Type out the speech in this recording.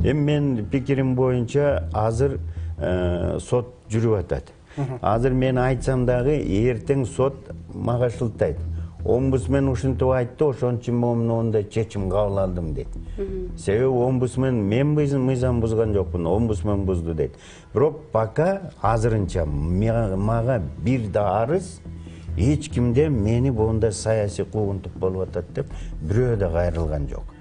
Эми мен пикирим боюнча азыр сот жүрүп атат. Азыр мен айтсам дагы эртең сот мага шылтайт. Омбудсмен ушинтип айтты, ошон үчүн мен мондай чечим кабыл алдым дейт. Себеби омбудсмен мен мыйзам бузган жокмун, омбудсмен бузду дейт. Бирок пока азырынча мага бир да арыз эч кимде мени мондай саясий куугунтук болуп атат деп бирөө да кайрылган жок.